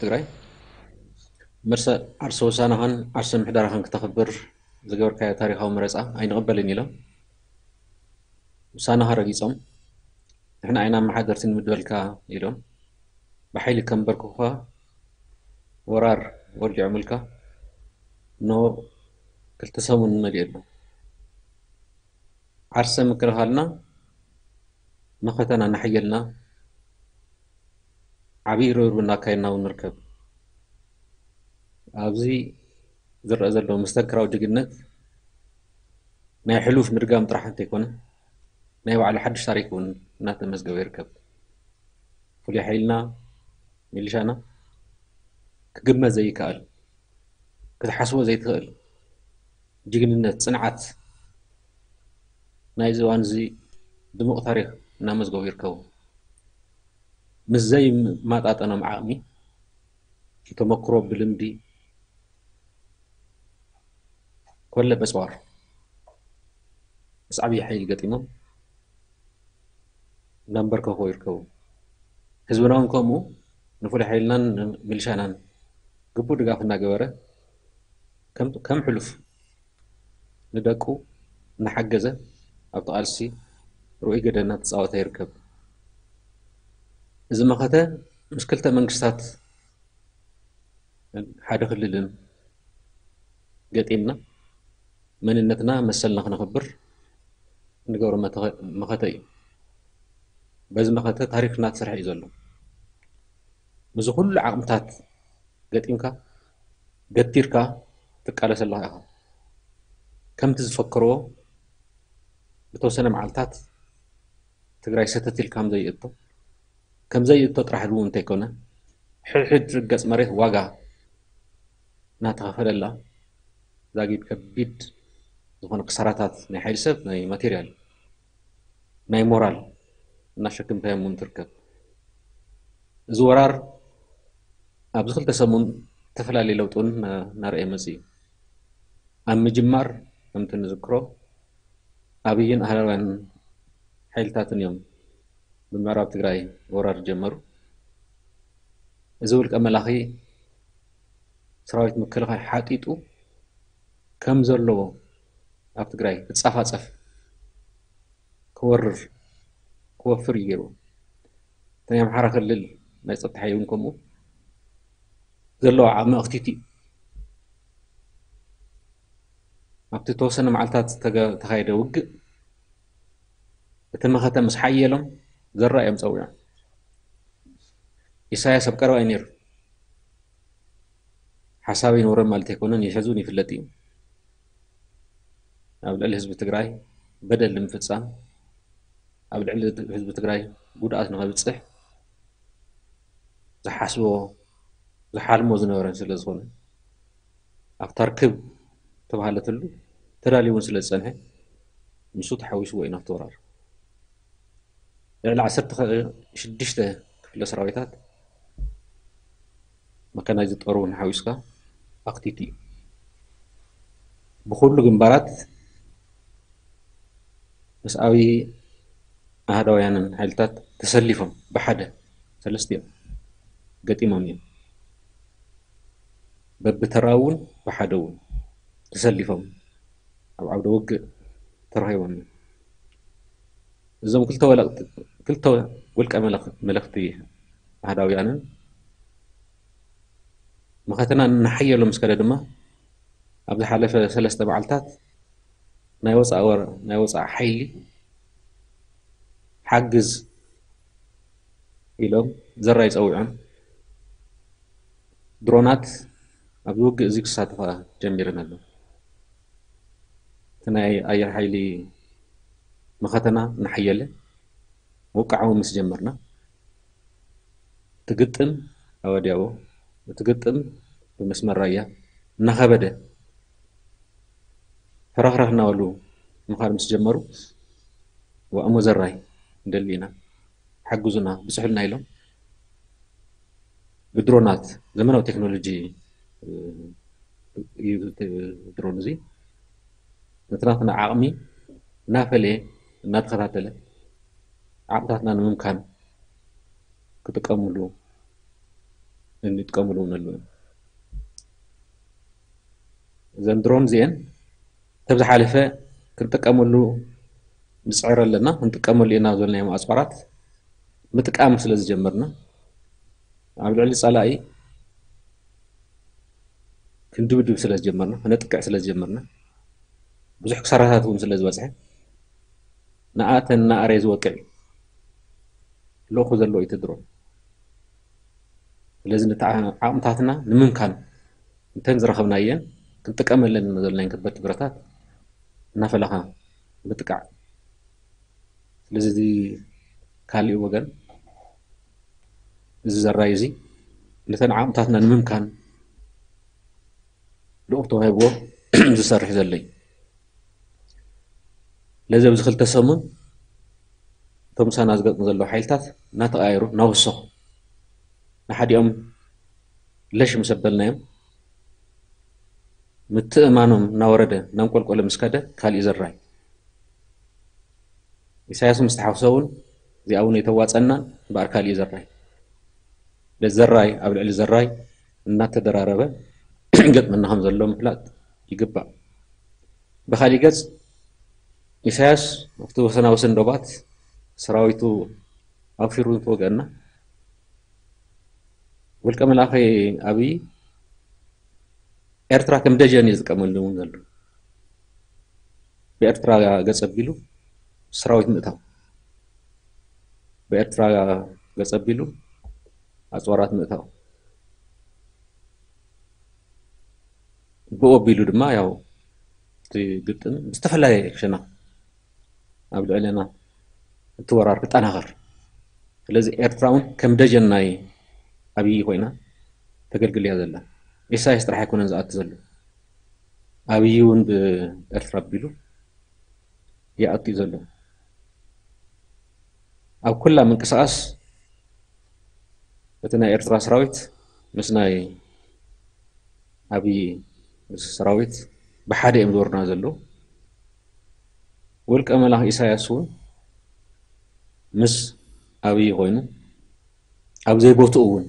ትግራይ መርሰ ዓርሰ ውሳነኻን ዓርሰ ምሕደራኻን ክተኽብር ዝገበርካዮ ታሪኻዊ መረፃ ኣይንቕበልን ኢሎም ውሳነኻ ረጊፆም፣ ንሕና ኣይና ኣመሓደርትን ምድበልካ ኢሎም ብሓይሊ ከምበርክኹኻ ወራር ወሊዖምልካ ኖ ክልተ ሰሙን መሊኡ ኣሎ። ዓርሰ ምክልኻልና መኸተና እናሓየልና ዓብዪ ርብርብ እናካየድና እውን ንርከብ። ኣብዚ ዝረአ ዘሎ መስተንክራዊ ጅግነት ናይ ሕሉፍ ምድጋም ጥራሕ እንተይኮነ ናይ ባዕሉ ሓድሽ ታሪክ እውን እናተመዝገበ ይርከብ። ፍሉይ ሓይልና ሚሊሻና ክግመት ዘይከኣል ክትሓስቦ ዘይትኽእል ጅግንነት፣ ፅንዓት ናይዚ እዋን እዚ ድሙቕ ታሪክ እናመዝገቡ ይርከቡ። ምስ ዘይመጣጠኖም ዓቕሚ ብተመክሮ ብልምዲ ኮለ በፅዋር ምስ ዓብዪ ሓይሊ ገጢሞም እናንበርከኹ ይርከቡ። ህዝብና እውን ከምኡ ንፍሉይ ሓይልናን ሚሊሻናን ግቡእ ድጋፍ እናገበረ ከም ሕሉፍ ንደቁ እናሓገዘ ኣብቲ ቃልሲ ርኡይ ግደ እናተፃወተ ይርከብ። እዚ መኸተ ምስ ክልተ መንግስታት ሓደ ክልልን ገጢምና መንነትና መሰልና ክነኽብር እንገብሮ መኸተ እዩ። በዚ መኸተ ታሪክ እናተሰርሐ እዩ ዘሎ። ምስዚ ኩሉ ዓቕምታት ገጢምካ ገቲርካ ትቃለስ ኣለኻ ኢኻ። ከምቲ ዝፈከርዎ ብተወሰነ መዓልታት ትግራይ ሰተት ኢልካ ከም ዘይእቶ ከም ዘይእቶ ጥራሕ እውን እንተይኮነ ሕድሕድ ርገፅ መሬት ዋጋ እናተኸፈለላ ዛጊድ ከቢድ ዝኾነ ክሳራታት ናይ ሓይሊ ሰብ ናይ ማቴርያል ናይ ሞራል እናሸክምካዮም እውን ትርከብ። እዚ ወራር ኣብዚ ክልተ ሰሙን ዝተፈላለዩ ለውጢ እውን እናረእየ መፅእ እዩ። ኣብ ምጅማር ከምቲ ንዝክሮ ኣብይን ኣህላውያን ሓይልታትን እዮም ብምዕራብ ትግራይ ወራር ጀመሩ። እዚ ውልቀ መላኺ ሰራዊት ምክልኻይ ሓጢጡ ከም ዘለዎ ኣብ ትግራይ ክፃፋፀፍ ክወርር ክወፍር እዩ ገይሩ። እቲ ናይ ኣምሓራ ክልል ናይ ፀጥታ ሓይሊ እውን ከምኡ ዘለዎ ዓቕሚ ኣኽቲቱ እዩ። ኣብቲ ተወሰነ መዓልታት ዝተገ- ተኻየደ ውግእ እቲ መኸተ ምስ ሓየሎም ዘራ እዮም ፀዊዖም። ኢሳያስ ኣብ ቀረባ እዩ ነይሩ። ሓሳብ ይኖረን ማለት ኣይኮነን፣ ይሕዙን ይፍለጥ እዩ። ኣብ ልዕሊ ህዝቢ ትግራይ በደል ንምፍፃም፣ ኣብ ልዕሊ ህዝቢ ትግራይ ጉድኣት ንኸብፅሕ ዝሓስቦ ዝሓልሞ ዝነበረን ስለ ዝኾነ ኣብታ ርክብ ተባሃለትሉ ተዳልዩ እውን ስለ ዝፀንሐ ንሱ ተሓዊስዎ እዩ ናብቲ ወራር። ልዕሊ ዓሰርተ ሽዱሽተ ክፍለ ሰራዊታት መካናይዝድ ጦር እውን ሓዊስካ ኣኽቲቱ እዩ። ብኩሉ ግንባራት ምስ ኣብይ ኣሃዳውያንን ሓይልታት ተሰሊፎም ብሓደ ሰለስቲኦም ገጢሞም እዮም። በብተራ እውን ብሓደ እውን ተሰሊፎም ኣብ ዓውደ ውግእ ተረኺቦም እዮም። እዞም ክልተ ወለቕቲ ክልተ ውልቀ መለኽ- መለኽቲ ኣሃዳውያንን መኸተና እናሓየሎ ምስ ከደ ድማ ኣብ ዝሓለፈ ሰለስተ መዓልታት ናይ ወፃእ ወረ ናይ ወፃእ ሓይሊ ሓግዝ ኢሎም ዘራይ ፀዊዖም ድሮናት ኣብዚ ውግእ እዚ ክሳተፋ ጀሚረን ኣሎ። እቲ ናይ ኣየር ሓይሊ መኸተና እናሓየለ ምውቃዕ እውን ምስ ጀመርና እቲ ግጥም ኣወዲያዎ እቲ ግጥም ብመስመር ራያ እናኸበደ ፈረኽረኽ እናበሉ ምኻድ ምስ ጀመሩ ዋእሞ ዘራይ ንደሊ ኢና ሓግዙና ብፅሑልና ኢሎም ብድሮናት ዘመናዊ ቴክኖሎጂ እዩ እቲ ድሮን እዚ ነቲ ናትና ዓቕሚ እናፈለየ እናተኸታተለ ዓቕምታትና ንምምካን ክጥቀምሉ ንጥቀምሉ እውን ኣለዉ። እዘን ድሮን እዚአን ተብ ዝሓለፈ ክንጥቀመሉ ንፅዕር ኣለና፣ ክንጥቀመሉ ኢና ዝበልናዮም ኣፅዋራት ምጥቃም ስለ ዝጀመርና፣ ኣብ ልዕሊ ፀላኢ ክንድብድብ ስለ ዝጀመርና፣ ክነጥቅዕ ስለ ዝጀመርና፣ ብዙሕ ክሳራታት እውን ስለ ዝበፅሐ፣ ንኣተን ንኣረይ ዝወቅዕ እዩ። ልእኹ ዘሎ እዩ እቲ ድሮን። ስለዚ ነቲ ዓቕምታትና ንምምካን እንተን ዝረኸብናየን ክንጥቀመለን ዘለናየን ከበድቲ ብረታት እናፈለኻ ምጥቃዕ። ስለዚ እዚ ካሊእ ወገን እዚ ዘራይ እዚ ነተን ዓቕምታትና ንምምካን ልኡኽ ተዋሂብዎ ዝሰርሕ ዘሎ እዩ። ስለዚ ኣብዚ ክልተ ሰሙን እቶም ምሳና ዝገጥሙ ዘለዉ ሓይልታት እናተቐያየሩ እናወሰኹ ንሓዲኦም ለሽ ምስ ኣበልናዮም ምትእማኖም እናወረደ እናንቆልቆለ ምስ ከደ ካሊእ ዘራይ ኢሳያስ ምስ ተሓፍሰ እውን እዚኣ እውን የተዋፀናን እምበኣር ካሊእ ዘራይ በዚ ዘራይ ኣብ ልዕሊ ዘራይ እናተደራረበ ገጥመና ከም ዘሎ ምፍላጥ ይግባእ። ብካሊእ ገፅ ኢሳያስ ኣብቲ ወሰናወሰን ዶባት ሰራዊቱ ኣውፊሩ እንትወገአና ውልቀ መላኸ ኣብይ ኤርትራ ከም ደጀን እዩ ዝጥቀመሉ እውን ዘሎ። ብኤርትራ ገፅ ኣቢሉ ሰራዊት ምእታው፣ ብኤርትራ ገፅ ኣቢሉ ኣፅዋራት ምእታው፣ ብኡ ኣቢሉ ድማ ያው እቲ ግጥም ብዝተፈላለየ ሸነኽ ኣብ ልዕለና እቲ ወራር ክጠናኸር። ስለዚ ኤርትራ እውን ከም ደጀን ናይ ኣብይ ኮይና ተገልግል እያ ዘላ። ኢሳያስ ጥራሕ ኣይኮነን ዝኣቱ ዘሎ፣ ኣብይ እውን ብኤርትራ ኣቢሉ ይኣቱ እዩ ዘሎ። ኣብ ኩላ ምንቅስቃስ እቲ ናይ ኤርትራ ሰራዊት ምስ ናይ ኣብይ ሰራዊት ብሓደ እዮም ዝወርዱና ዘለዉ። ውልቀ መላኽ ኢሳያስ እውን ምስ ኣብይ ኮይኑ ኣብ ዘይቦትኡ እውን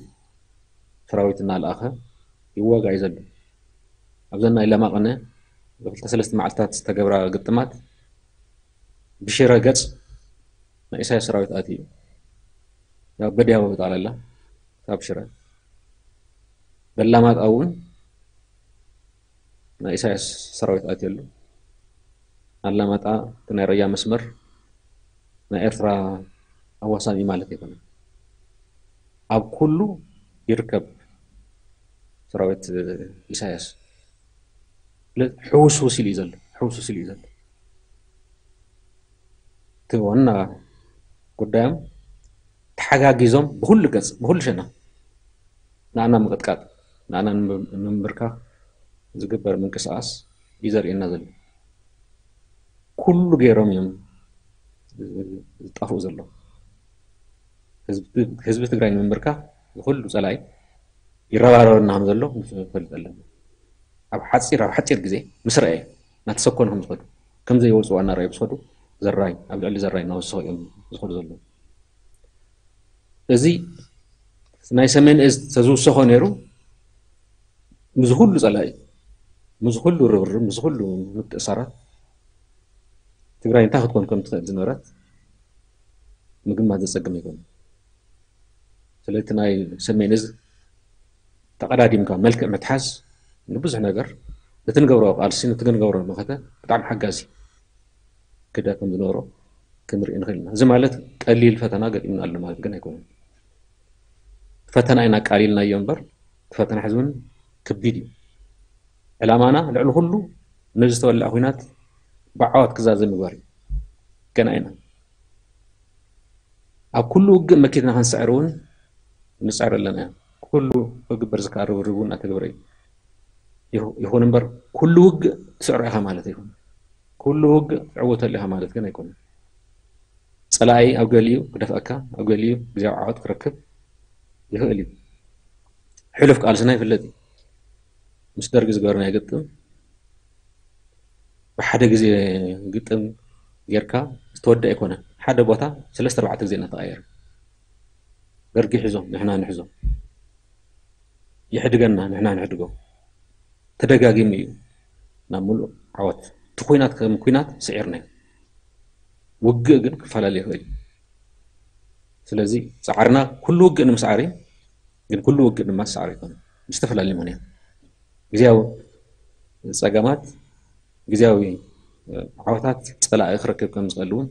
ሰራዊት እናለኣኸ ይዋጋእ እዩ ዘሎ። ኣብዘን ናይ ለማቕነ ብክልተ ሰለስተ መዓልትታት ዝተገብራ ግጥማት ብሽረ ገፅ ናይ ኢሳያስ ሰራዊት ኣትዩ እዩ። ያው በዲያቦ ብጠቕላላ ካብ ሽረ በላማጣ እውን ናይ ኢሳያስ ሰራዊት ኣትየሉ። ኣላማጣ እቲ ናይ ራያ መስመር ናይ ኤርትራ ኣዋሳኒ ማለት ኣይኮነን። ኣብ ኩሉ ይርከብ ሰራዊት ኢሳያስ። ስለ ሕውስውስ ኢሉ እዩ ዘሎ፣ ሕውስውስ ኢሉ እዩ ዘሎ። እቲ ዋና ጉዳዮም ተሓጋጊዞም ብኩሉ ገፅ ብኩሉ ሸነኽ ንኣና ምቕጥቃጥ ንኣና ንምንብርካኽ ዝግበር ምንቅስቃስ እዩ ዘርእየና ዘሎ። ኩሉ ገይሮም እዮም ዝጣፍኡ ዘለዉ። ህዝቢ ትግራይ ንምንብርካኽ ዝኩሉ ፀላኢ ይረባረበና ከም ዘሎ ንፈልጥ ኣለና። ኣብ ሓፂር ኣብ ሓፂር ግዜ ምስ ረኣየ እናተሰኮኑ ከም ዝኸዱ ከም ዘይወፅኡ ኣናረኣዩ ዝኸዱ ዘራይ ኣብ ልዕሊ ዘራይ እናወሰኹ እዮም ዝኸዱ ዘለዉ። እዚ ናይ ሰሜን እዝ ተዝውሰኾ ነይሩ ምስ ኩሉ ፀላኢ ምስ ኩሉ ርብርብ ምስ ኩሉ ምትእሳራት ትግራይ እንታይ ክትኮን ከም ትኽእል ዝነበረት ምግማት ዘፀግም ኣይኮነን። ስለዚ ናይ ሰሜን እዝ ተቐዳዲምካ መልክዕ ምትሓዝ ንብዙሕ ነገር ነቲ ንገብሮ ቃልሲ ነቲ ንገብሮ መኸተ ብጣዕሚ ሓጋዚ ግደ ከም ዝነበሮ ክንርኢ ንኽእል ኢና። እዚ ማለት ቀሊል ፈተና ገጢምና ኣሎ ማለት ግን ኣይኮነን። ፈተና ኢና ኣቃሊልናዮ እምበር እቲ ፈተና ሕዚ እውን ከቢድ እዩ። ዕላማና ልዕሊ ኩሉ ነዚ ዝተወለዐ ኲናት ብዓወት ክዛዘም ምግባር እዩ። ገና ኢና ኣብ ኩሉ ውግእ መኪትና ክንስዕር እውን ንፅዕር ኣለና። ኩሉ ክግበር ዝከኣል ርብርብ እውን ኣተግብረ እዩ። ይኹ- ይኹን እምበር ኩሉ ውግእ ትስዕሮ ኢኻ ማለት ኣይኮነን። ኩሉ ውግእ ትዕወተሉ ኢኻ ማለት ግን ኣይኮነን። ፀላኢ ኣብ ገሊኡ ክደፍኣካ ኣብ ገሊኡ ግዜያዊ ዓወት ክረክብ ይኽእል እዩ። ሕሉፍ ቃልስና ይፍለጥ እዩ። ምስ ደርጊ ዝገበርናዮ ግጥም ብሓደ ግዜ ግጥም ጌርካ ዝተወደ ኣይኮነን። ሓደ ቦታ ሰለስተ ኣርባዕተ ግዜ እናተቐየረ ደርጊ ይሕዞ ንሕና ንሕዞ የሕድገና፣ ንሕና ንሕድጎ። ተደጋጊሙ እዩ ናብ ምሉእ ዓወት። እቲ ኲናት ከም ኲናት ስዒርናዮ። ውግእ ግን ክፈላለ ይኽእል እዩ። ስለዚ ጻዕርና ኩሉ ውግእ ንምስዓር እዩ፣ ግን ኩሉ ውግእ ድማ ዝሰዓር ኣይኮነን። ብዝተፈላለዩ ምኽንያት ግዝያዊ ጸገማት፣ ግዝያዊ ዓወታት ጸላኢ ክረክብ ከም ዝኽእል እውን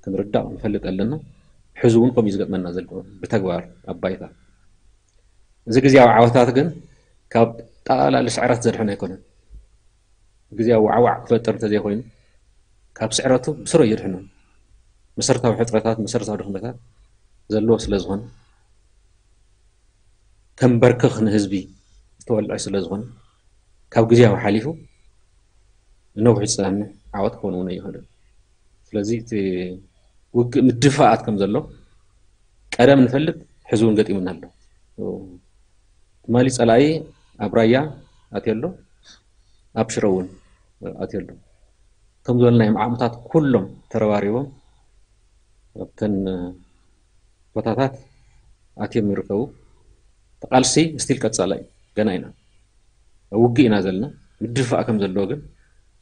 ክንርዳእ ክንፈልጥ ኣለና። ሕዚ እውን ከምኡ እዩ ዝገጥመና ዘሎ ብተግባር ኣብ ባይታ። እዚ ግዝያዊ ዓወታት ግን ካብ ጠቓላሊ ስዕረት ዘድሕን ኣይኮነን። ግዝያዊ ዋዕዋዕ ክፈጥር እንተዘይኮይኑ ካብ ስዕረቱ ብስሩ የድሕኖ። መሰረታዊ ሕጽረታት፣ መሰረታዊ ድኽመታት ዘለዎ ስለ ዝኾነ፣ ከም በርክኽ ንህዝቢ ዝተወልዐ ስለ ዝኾነ፣ ካብ ግዝያዊ ሓሊፉ ንነዊሕ ዝጸንሕ ዓወት ክኸውን እውን ኣይኽእልን። ስለዚ እቲ ውግእ ምድፋኣት ከም ዘሎ ቀደም ንፈልጥ፣ ሕዚ እውን ገጢሙና ኣሎ። ትማሊ ጸላኢ ኣብ ራያ ኣትዮ ኣሎ፣ ኣብ ሽረ እውን ኣትዮ ኣሎ። እቶም ዝበልናዮም ዓቕምታት ኩሎም ተረባሪቦም ኣብተን ቦታታት ኣትዮም ይርከቡ። እቲ ቃልሲ ስቲል ቀጻላይ ገና ኢና። ኣብ ውግእ ኢና ዘለና። ምድፋእ ከም ዘለዎ ግን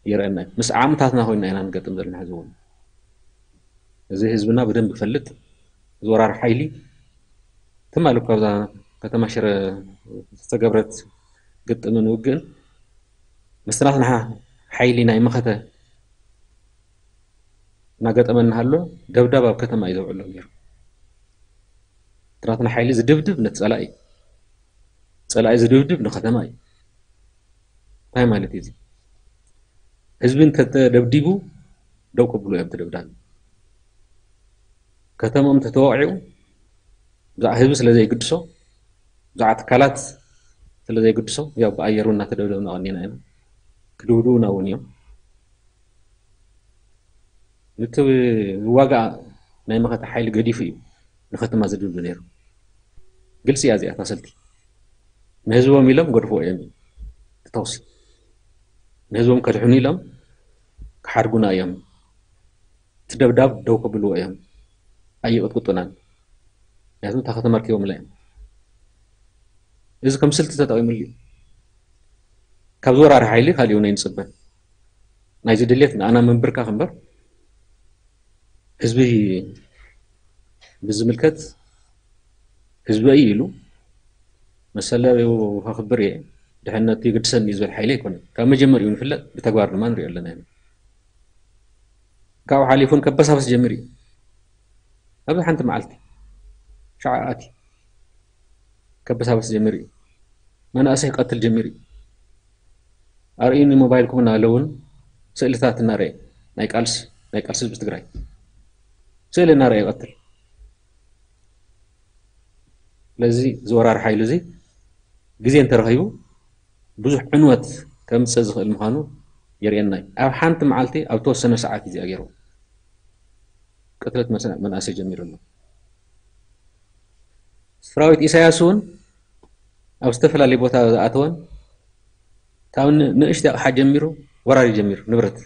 የርእየና እዩ። ምስ ዓቕምታትና ኮይና ኢና ንገጥም ዘለና ሕዚ እውን። እዚ ህዝብና ብደንብ ይፈልጥ። እዚ ወራር ሓይሊ ትማሊ እኳ ኣብዛ ከተማ ሽረ ዝተገብረት ግጥምን ውግእን ምስቲ ናትና ሓይሊ ናይ መኸተ እናገጠመ እናሃሎ ደብዳብ ኣብ ከተማ እዩ ዘውዕሎ ነይሩ። እቲ ናትና ሓይሊ ዝድብድብ ነቲ ጸላኢ፣ ጸላኢ ዝድብድብ ንከተማ እዩ። እንታይ ማለት እዩ እዚ? ህዝቢ እንተተደብዲቡ ደው ከብሉ እዮም ተደብዳቢ። ከተሞም እንተተወቂዑ ብዛዕ ህዝቢ ስለ ዘይግድሶ፣ ብዛዕ ትካላት ስለ ዘይግድሶ፣ ያው ብኣየር እውን እናተደብደብና ቀኒና ኢና። ክድብድቡና እውን እዮም። ነቲ ዝዋጋእ ናይ መኸተ ሓይሊ ገዲፉ እዩ ንከተማ ዝድብድብ ነይሩ። ግልፂ እያ እዚኣ እታ ስልቲ። ንህዝቦም ኢሎም ገድፍዎ እዮም። እቲ ተኹሲ ንህዝቦም ከድሕኑ ኢሎም ክሓድጉና እዮም። እቲ ደብዳብ ደው ከብልዎ እዮም። ኣይቕጥቅጡናን። ምክንያቱ እታ ከተማ ኣርኪቦምላ እዮም። እዚ ከም ስልቲ ተጠቒሙሉ እዩ። ካብዚ ወራሪ ሓይሊ ካሊእ እውን ኣይንፅበን። ናይዚ ድሌት ንኣና ምንብርካኽ እምበር ህዝቢ ብዝምልከት ህዝቢ እዩ ኢሉ መሰለኡ ከኽብር እየ፣ ድሕነቱ ይግድሰኒ እዩ ዝብል ሓይሊ ኣይኮነን። ካብ መጀመሪኡ ንፍለጥ፣ ብተግባር ድማ ንሪኦ ኣለና ኢና። ካብኡ ሓሊፉን ከበሳበስ ጀሚሩ እዩ። ኣብዚ ሓንቲ መዓልቲ ሻዕ ኣትዩ ከበሳበስ ጀሚሩ እዩ። መናእሰይ ክቐትል ጀሚሩ እዩ። ኣርእዩኒ ሞባይልኩም እናበለ እውን ስእልታት እናረኤ ናይ ቃልሲ ናይ ቃልሲ ህዝቢ ትግራይ ስእሊ እናረኤ ይቐትል። ስለዚ እዚ ወራሪ ሓይሊ እዚ ግዜ እንተረኺቡ ብዙሕ ዕንወት ከምፅእ ዝኽእል ምዃኑ የርእየና እዩ። ኣብ ሓንቲ መዓልቲ ኣብ ተወሰነ ሰዓት እዩ እዚኣ ገይሩ ቅትለት መሰ- መናእሰይ ጀሚሩ ኣሎ። ሰራዊት ኢሳያስ እውን ኣብ ዝተፈላለየ ቦታ ዝኣተወን ካብ ን- ንእሽተይ ኣቕሓ ጀሚሩ ወራሪ ጀሚሩ ንብረት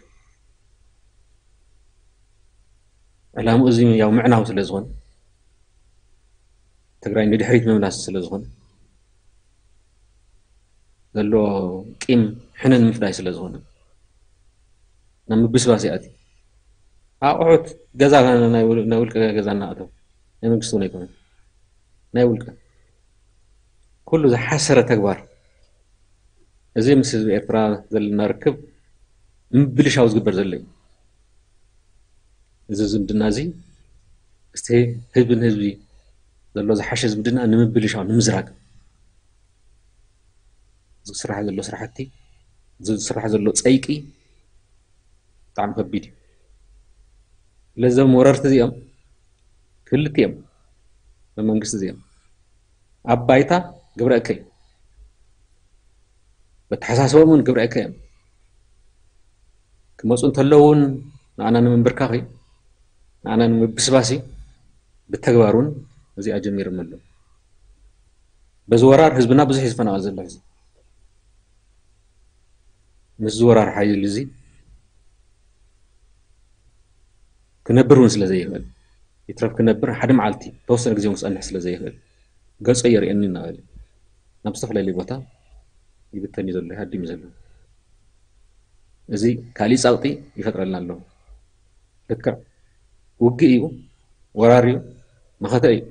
ዕላምኡ እዚ ያው ምዕናው ስለ ዝኾነ ትግራይ ንድሕሪት ምምላስ ስለ ዝኾነ ዘሎ ቂም ሕነ ንምፍዳይ ስለ ዝኾነ ናብ ምብስባስ ይኣትዩ። ኣቑሑት ገዛ ናይ ውል- ናይ ውልቀ ገዛ እናኣተው ናይ መንግስቲ እውን ኣይኮነን ናይ ውልቀ ኩሉ ዝሓሰረ ተግባር እዚ ምስ ህዝቢ ኤርትራ ዘለና ርክብ ንምብልሻው ዝግበር ዘሎ እዩ። እዚ ዝምድና እዚ እስቲ ህዝቢ ንህዝቢ ዘሎ ዝሓሸ ዝምድና ንምብልሻው ንምዝራግ ዝስራሕ ዘሎ ስራሕቲ ዝስራሕ ዘሎ ፀይቂ ብጣዕሚ ከቢድ እዩ። ስለዚ እዞም ወረርቲ እዚኦም ክልቲኦም መንግስቲ እዚኦም ኣብ ባይታ ግብረ እከይ በተሓሳስቦም እውን ግብረ እከይ እዮም ክመፁ እንተለዉ እውን ንኣና ንምንብርካኺ ንኣና ንምብስባሲ ብተግባር እውን እዚኣ ጀሚሮም ኣለዉ። በዚ ወራር ህዝብና ብዙሕ እዩ ዝፈናቐል ዘሎ ሕዚ ምስ ዝወራር ሓይሊ እዚ ክነብር እውን ስለ ዘይኽእል ይትረፍ ክነብር ሓደ መዓልቲ ተወሰነ ግዜ እውን ክፀንሕ ስለ ዘይኽእል ገጾ የርእየኒ እናበለ ናብ ዝተፈላለየ ቦታ ይብተን እዩ ዘሎ፣ ይሃድም እዩ ዘሎ። እዚ ካሊእ ጸቕጢ ይፈጥረልና ኣሎ። ልክዕ ውግእ እዩ፣ ወራር እዩ፣ መኸተ እዩ።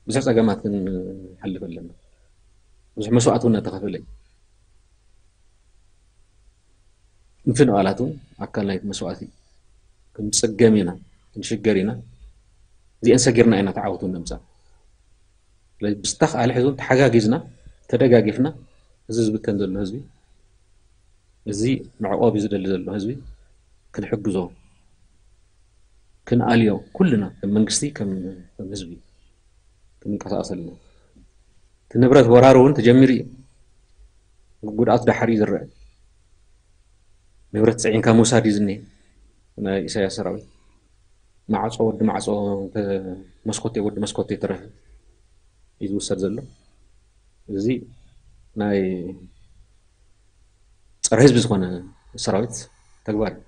ብዙሕ ጸገማት ክንሓልፍ ኣለና። ብዙሕ መስዋእቲ እውን እናተኸፈለ እዩ። ምፍንቓላት እውን ኣካል ናይቲ መስዋእቲ እዩ። ክንጽገም ኢና፣ ክንሽገር ኢና። እዚአን ሰጊርና ኢና ተዓወት እውን ነምጻእ። ስለዚ ብዝተኻእለ ሕዚ እውን ተሓጋጊዝና፣ ተደጋጊፍና፣ እዚ ዝብተን ዘሎ ህዝቢ፣ እዚ መዕቆቢ ዝደሊ ዘሎ ህዝቢ ክንሕግዞ፣ ክንኣልዮ፣ ኩልና ከም መንግስቲ፣ ከም ከም ህዝቢ ክንንቀሳቐስ ኣለና። እቲ ንብረት ወራር እውን ተጀሚሩ እዩ። ጉድኣቱ ዳሓር እዩ ዝረአ። ንብረት ጽዒንካ ምውሳድ እዩ ዝኒሀ። ናይ ኢሳያስ ሰራዊት ማዕጾ ወዲ ማዕጾ፣ መስኮቴ ወዲ መስኮቴ ተረፈ እዩ ዝውሰድ ዘሎ። እዚ ናይ ጸረ ህዝቢ ዝኾነ ሰራዊት ተግባር እዩ።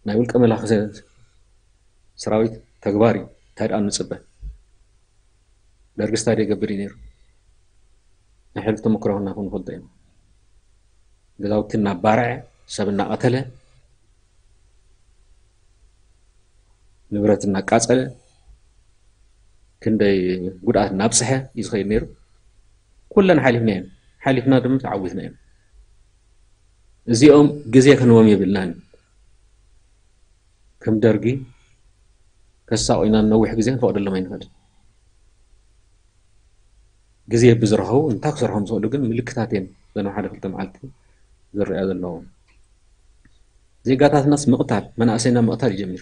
ናይ ውልቀ መላኺ ሰ-፣ ሰራዊት ተግባር እዩ። እንታይ ደኣ ንጽበ? ደርጊ ስታይ ይገብር እዩ ነይሩ። ናይ ሕሉፍ ተመክሮ ኮና ክንፈልጦ ኢና። ገዛውቲ እናባርዐ፣ ሰብ እናቐተለ፣ ንብረት እናቃጸለ፣ ክንደይ ጉድኣት እናብጽሐ እዩ ዝኸይድ ነይሩ። ኩለን ሓሊፍና እዮም። ሓሊፍና ድማ ተዓዊትና እዮም። እዚኦም ግዜ ክንዎም የብልናን። ከም ደርጊ ከሳቑና ነዊሕ ግዜ ክንፈቕደሎም ኣይንኽእልን። ግዜ ብዝረኸቡ እንታይ ክሰርሖም ዝኽእሉ ግን ምልክታት እዮም። ዘን ሓደ ክልተ መዓልቲ ዝረኣ ዘለዎም። ዜጋታትናስ ምቕታል፣ መናእሰይና ምቕታል ይጀምር።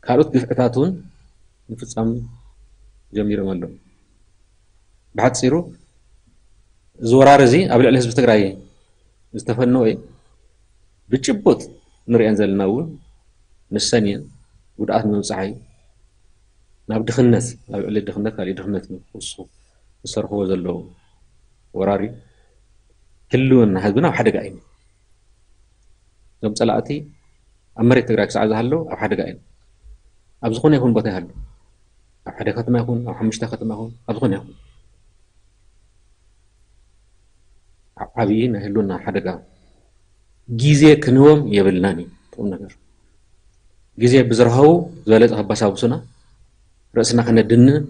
ካልኦት ግፍዕታት እውን ምፍጻም ጀሚሮም ኣለዉ። ብሓጺሩ፣ እዚ ወራር እዚ ኣብ ልዕሊ ህዝቢ ትግራይ ዝተፈነወ እዩ። ብጭቡጥ ንሪአን ዘለና እውን ንሰን እየን። ጉድኣት ንምብጻሕ እዩ። ናብ ድኽነት፣ ኣብ ልዕሊ ድኽነት ካልእ ድኽነት ንክውስኹ ዝሰርሕዎ ዘለዉ ወራር እዩ። ህልውና ህዝብና ኣብ ሓደጋ እዩ። እዞም ጸላእቲ ኣብ መሬት ትግራይ ክሳዕ ዝሃለዉ ኣብ ሓደጋ እዮም። ኣብ ዝኾነ ይኹን ቦታ ይሃሉ፣ ኣብ ሓደ ከተማ ይኹን፣ ኣብ ሓሙሽተ ከተማ ይኹን፣ ኣብ ዝኾነ ይኹን፣ ኣብ ዓብዪ ናይ ህልውና ሓደጋ ግዜ ክንህቦም የብልናን እዩ። ቁም ነገር፣ ግዜ ብዝረኸቡ ዝበለጸ ከባሳብሱና፣ ርእስና ከነድንን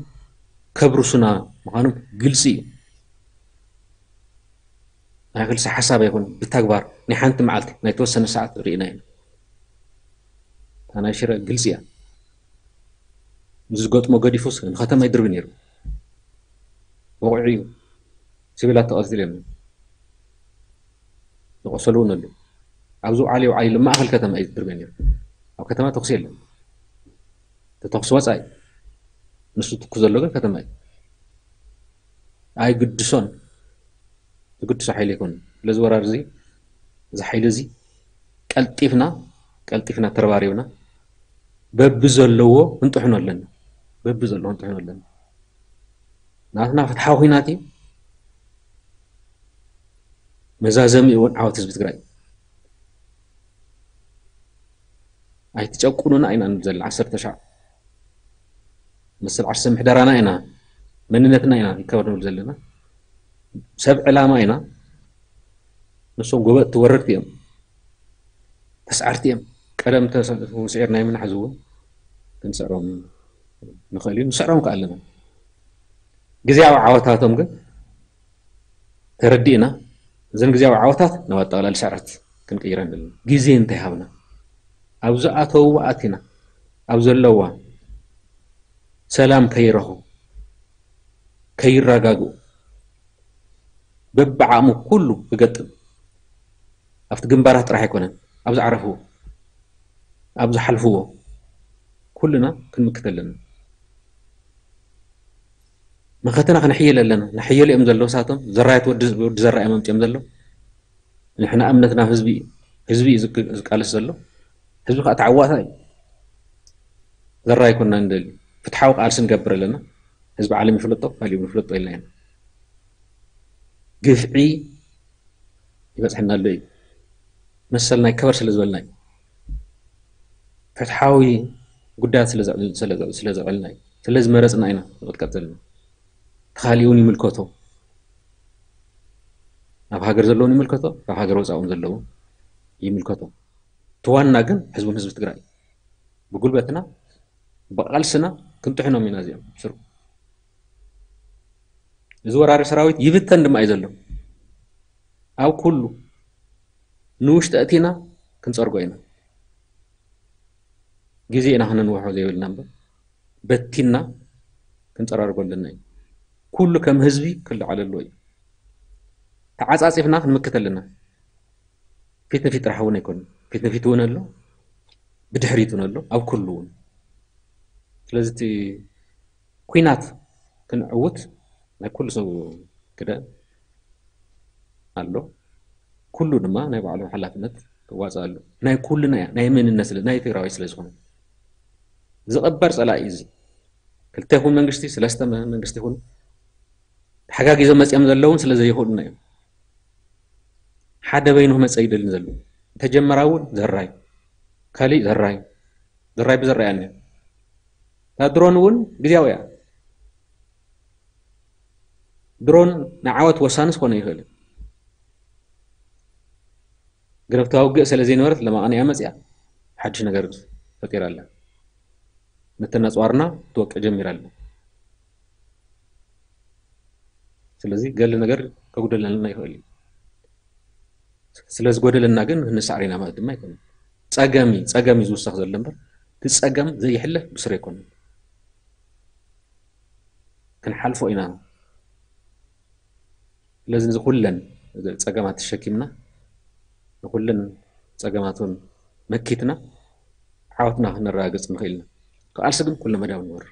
ከብርሱና ምዃኖም ግልጺ እዩ። ናይ ክልሰ ሓሳብ ኣይኮን፣ ብተግባር ናይ ሓንቲ መዓልቲ፣ ናይ ተወሰነ ሰዓት ርኢና ኢና። እታ ናይ ሽረ ግልጺ እያ። ምስ ዝገጥሞ ገዲፉስ ንከተማ ይድርቢ ነይሩ። ወቑዑ እዩ። ሲቪላት ተቐቲሎም እዮም። ዝቆሰሉ እውን ኣለዉ። ኣብዚ ውዓሊ ውዓሊ ኢሉ ማእኸል ከተማ እዩ ዝድርበ ነይሩ። ኣብ ከተማ ተኹሲ የለን። እቲ ተኹሲ ወፃኢ። ንሱ ትኩስ ዘሎ ግን ከተማ እዩ። ኣይግድሶን። ዝግድሶ ሓይሊ ኣይኮነን። ስለዚ ወራር እዚ፣ እዚ ሓይሊ እዚ ቀልጢፍና፣ ቀልጢፍና ተረባሪብና በቢ ዘለዎ ክንጥሕኖ ኣለና። በቢ ዘለዎ ክንጥሕኖ ኣለና። ናትና ፍትሓዊ ኲናት እዩ። መዛዘሚ እውን ዓወት ህዝቢ ትግራይ። ኣይትጨቁኑና ኢና ንብል ዘለና። ዓሰርተ ሻዕ መሰል ዓርሰ ምሕደራና ኢና፣ መንነትና ኢና ይከበር ንብል ዘለና። ሰብ ዕላማ ኢና። ንሶም ጎበጥቲ ወረድቲ እዮም። ተስዓርቲ እዮም። ቀደም ተስ-፣ ስዒርና የምና ሕዚ እውን ክንስዕሮም ንኽእል እዩ። ንስዕሮም ከኣ ኣለና። ግዜያዊ ዓወታቶም ግን ተረዲእና፣ እዘን ግዜያዊ ዓወታት ናብ ኣጠቓላሊ ስዕረት ክንቅይረን ኣለና። ግዜ እንተይሃብና፣ ኣብ ዝኣተውዎ ኣቲና፣ ኣብ ዘለዋ ሰላም ከይረኽቡ፣ ከይረጋግኡ፣ በብዓቕሙ ኩሉ ክገጥም፣ ኣብቲ ግንባራት ጥራሕ ኣይኮነን፣ ኣብ ዝዓረፍዎ፣ ኣብ ዝሓልፍዎ፣ ኩልና ክንምክት ኣለና። መኸተና ከነሕይል ኣለና። ነሕይል እዮም ዘለዉ ሳቶም፣ ዘራየት ወዲ፣ ወዲ ዘራእዮም ኣምፅኦም ዘለዉ። ንሕና እምነትና ህዝቢ እዩ። ህዝቢ እዩ ዝቅ-፣ ዝቃለስ ዘሎ። ህዝቢ ከዓ ተዓዋታይ እዩ። ዘራይ ኮንና ንደሊ። ፍትሓዊ ቃልሲ ንገብር ኣለና። ህዝቢ ዓለም ይፍለጦ፣ ካሊእ እውን ይፍለጦ ኢልና ኢና። ግፍዒ ይበፅሐና ኣሎ እዩ። መሰልና ይከበር ስለ ዝበልና እዩ። ፍትሓዊ ጉዳያት ስለ ዘዕል-፣ ስለ ዘ-፣ ስለ ዘዕልና እዩ። ስለ ዝመረፅና ኢና ንቕጥቀጥ ዘለና። ካሊኡን ይምልከቶ። ኣብ ሃገር ዘለውን ይምልከቶ፣ ካብ ሃገር ወፃእውን ዘለዉ ይምልከቶ። እቲ ዋና ግን ህዝቡን ህዝቢ ትግራይ ብጉልበትና ብቃልስና ክንጥሕኖም ኢና። እዚኦም ስሩ እዚ ወራሪ ሰራዊት ይብተን ድማ እዩ ዘሎ። ኣብ ኩሉ ንውሽጢ ኣእቲና ክንፀርጎ ኢና። ግዜ ኢና ክነንውሖ ዘይብልና እምበር በቲና ክንፀራርጎ ኣለና እዩ። ኩሉ ከም ህዝቢ ክለዓለሉ እዩ። ተዓፃፂፍና ክንምክት ኣለና። ፊት ንፊት ጥራሕ እውን ኣይኮነ፣ ፊት ንፊት እውን ኣሎ፣ ብድሕሪት እውን ኣሎ፣ ኣብ ኩሉ እውን። ስለዚ እቲ ኲናት ክንዕውት ናይ ኩሉ ሰብ ግደ ኣሎ። ኩሉ ድማ ናይ ባዕሉ ሓላፍነት ክዋፅእ ኣሎ። ናይ ኩልና እያ፣ ናይ መንነት ስለ ናይ ትግራዋይ ስለ ዝኾነ ዝቐበር ፀላኢ እዚ ክልተ ይኹን መንግስቲ፣ ሰለስተ መ- መንግስቲ ይኹን ተሓጋጊዞም መፂኦም ዘለውን ስለ ዘይኽእሉና እዮም። ሓደ በይኑ ክመፀ ይደልን ዘሎ እንተጀመራ እውን ዘራይ ካሊእ ዘራይ ዘራይ ብዘራይ ኣነ እታ ድሮን እውን ግዜያዊ እያ። ድሮን ንዓወት ወሳኒ ዝኾነ ይኽእል እዩ። ግረፍታ ውግእ ስለ ዘይነበረት ለማቐን እያ መፅያ ሓድሽ ነገር ፈጢራ ኣላ። ነተን ኣፅዋርና ትወቅዕ ጀሚራ ኣላ። ስለዚ ገለ ነገር ከጉደለና ይኽእል እዩ። ስለ ዝጎደለና ግን ክንሳዕር ኢና ማለት ድማ ኣይኮነን። ፀገም እዩ፣ ፀገም እዩ ዝውሰኽ ዘሎ እምበር እቲ ፀገም ዘይሕለፍ ብስሩ ኣይኮነን። ክንሓልፎ ኢና። ስለዚ ነዚ ኩለን ፀገማት ተሸኪምና ንኩለን ፀገማት እውን መኪትና ዓወትና ክነረጋግፅ ንኽእል ኢና። ክቃልሲ ግን ኩለ መዳያዊ ንበር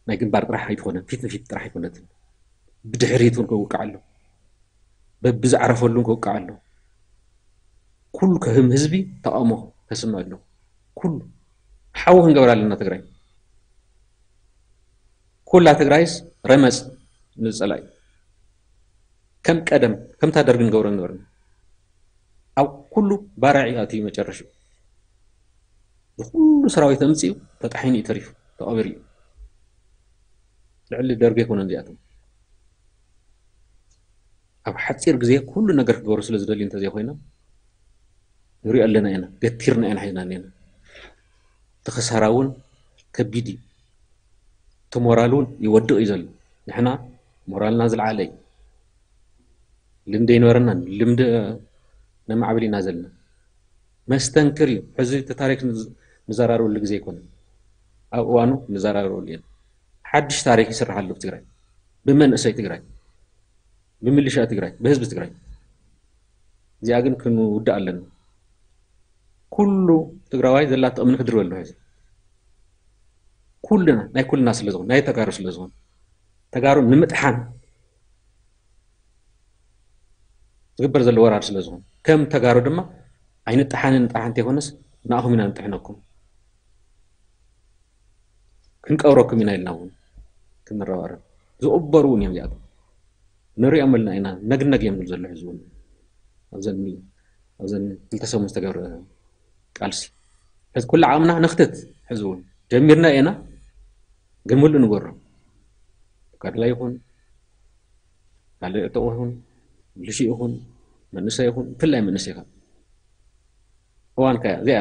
ናይ ግንባር ጥራሕ ኣይትኾነን፣ ፊት ንፊት ጥራሕ ኣይኮነትን። ብድሕሪት እውን ከውቃዕ ኣሎ፣ በብዝዓረፈሉ እውን ከውቃዕ ኣሎ። ኩሉ ከም ህዝቢ ተቃውሞ ከስምዕ ኣሎ። ኩሉ ሓዊ ክንገብር ኣለና ትግራይ። ኩላ ትግራይስ ረመፅ ንፀላኢ ከም ቀደም ከምታ ደርግ ንገብሮ ነበርና። ኣብ ኩሉ ባርዕ እዩ ኣትዩ መጨረሽኡ። ብኩሉ ሰራዊት ኣምፅኡ ተጣሒኑ እዩ ተሪፉ ተቐቢሩ እዩ። ልዕሊ ደርግ ኣይኮነን እዚኣቶም። ኣብ ሓፂር ግዜ ኩሉ ነገር ክገብሩ ስለ ዝደልዩ እንተዘይኮይኖም ንሪኦ ኣለና ኢና፣ ገቲርና ኢና ሒዝና እኒና። እቲ ክሳራ እውን ከቢድ እዩ። እቲ ሞራል እውን ይወድቕ እዩ ዘሎ። ንሕና ሞራልና ዝለዓለ እዩ። ልምዲ ኣይነበረናን፣ ልምዲ ነማዕብል ኢና ዘለና። መስተንክር እዩ። ሕዚ እቲ ታሪክ ንዝ- ንዘራረበሉ ግዜ ኣይኮነን። ኣብ እዋኑ ንዘራረበሉ ኢና። ሓድሽ ታሪክ ይስራሕ ኣሎ ብትግራይ፣ ብመንእሰይ ትግራይ፣ ብምልሻ ትግራይ፣ ብህዝቢ ትግራይ። እዚኣ ግን ክንውዳእ ኣለና። ኩሉ ትግራዋይ ዘላቶ እምኒ ክድርበሉ ሕዚ ኩልና ናይ ኩልና ስለ ዝኾነ ናይ ተጋሩ ስለ ዝኾነ ተጋሩ ንምጥሓን ዝግበር ዘሎ ወራር ስለ ዝኾነ ከም ተጋሩ ድማ ኣይንጠሓንን ጥራሕ እንተይኮነስ ንኣኹም ኢና ንጥሕነኩም። ክንቀብረኩም ኢና ኢልና እውን ክንረባረብ ዝቕበሩ እውን እዮም እዚኣቶም ንሪኦም ኣለና ኢና። ነግነግ እዮም ዝብሉ ዘለዉ ሕዚ እውን ኣብዘን ኣብዘን ክልተ ሰሙን ዝተገብረ ቃልሲ ሕዚ ኩሉ ዓቕምና ነኽትት ሕዚ እውን ጀሚርና ኢና ግን ምሉእ ንገሮ ተጋድላይ ይኹን ካልእ ዕጡቕ ይኹን ብልሽእ ይኹን መንእሰይ ይኹን ብፍላይ መንእሰይ ኢኻ እዋንካ እያ እዚኣ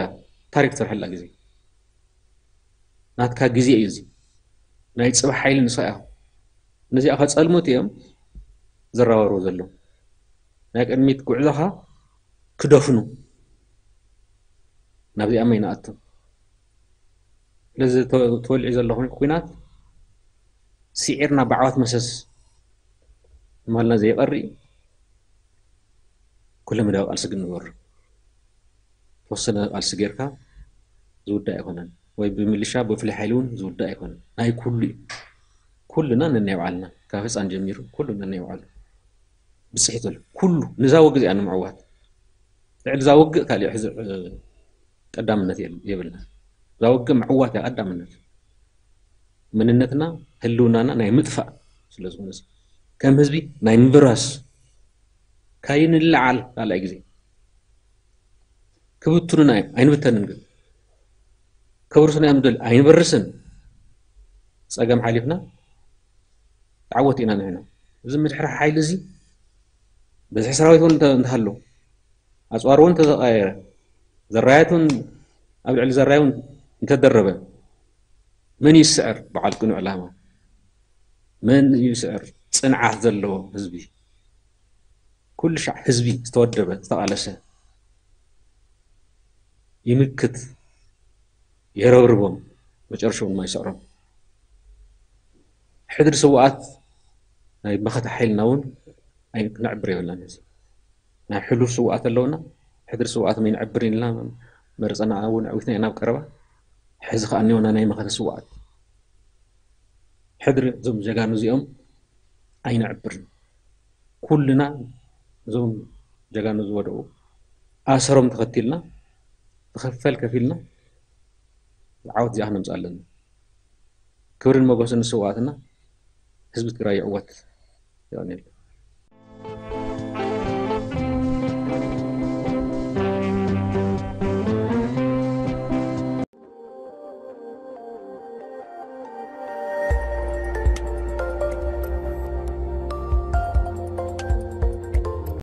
ታሪክ ትሰርሐላ ግዜ ናትካ ግዜ እዩ እዚ ናይ ፅባሕ ሓይሊ ንስኻ ኢኻ ነዚኣ ከፀልሙት እዮም ዝረባረቡ ዘለዉ ናይ ቅድሚት ጉዕዞኻ ክደፍኑ ናብዚኣ መይ ንኣቱ ስለዚ ተወልዒ ዘሎ ኩናት ስዒርና ብዓወት መሰስ ማልና ዘይቐሪ ኩለ መዳዊ ቃልሲ ግን ንገሩ ተወሰነ ቃልሲ ጌርካ ዝውዳእ ኣይኮነን ወይ ብምልሻ ብፍሉይ ሓይሊ እውን ዝውዳእ ኣይኮነን ናይ ኩሉ እዩ ኩልና ነናይ ባዕልና ካብ ህፃን ጀሚሩ ኩሉ ነናይ ባዕሉ ብፅሒት ዘሎ ኩሉ ንዛ ውግእ እዚኣ ንምዕዋት ልዕሊ እዛ ውግእ ካሊእ ሕዚ ቀዳምነት የብልና እዛ ውግእ ምዕዋት እያ ቀዳምነት መንነትና ህልውናና ናይ ምጥፋእ ስለዝኾነ ከም ህዝቢ ናይ ምብራስ ካይንለዓል ካልኣይ ግዜ ክብትኑና እዮም ኣይንብተንን ግን ከብርስና እዮም ዝደል ኣይንበርስን ፀገም ሓሊፍና ዓወት ኢና ንሕና። እዚ ምድሕራሕ ሓይሊ እዚ በዝሒ ሰራዊት እውን እንተ- እንተሃሎ፣ ኣፅዋር እውን እንተተቐያየረ፣ ዘራያት እውን ኣብ ልዕሊ ዘራይ እውን እንተደረበ፣ መን ይስዕር? በዓል ቅኑዕ ዕላማ መን ይስዕር? ፅንዓት ዘለዎ ህዝቢ፣ ኩሉ ሻዕ ህዝቢ ዝተወደበ ዝተቓለሰ ይምክት፣ የረብርቦም፣ መጨረሻ እውን ማይስዕሮም። ሕድሪ ስውኣት ናይ መኸተ ሓይልና እውን ኣይ- ክነዕብር የብልናን። እዚ ናይ ሕሉፍ ስውኣት ኣለውና። ሕድሪ ስውኣት መይንዕብር ኢልና መርፀና እውን ኣዕዊትና ኢና ናብ ቀረባ። ሕዚ ከዓ እኒኦና ናይ መኸተ ስውኣት። ሕድሪ እዞም ጀጋኑ እዚኦም ኣይነዕብርን። ኩልና እዞም ጀጋኑ ዝወደቁ ኣሰሮም ተኸቲልና፣ ዝኸፈል ከፊልና፣ ዝዓወት እዚኣ ክነምፅእ ኣለና። ክብርን መጎስን ንስውኣትና። ህዝቢ ትግራይ ይዕወት። የቐንየልና።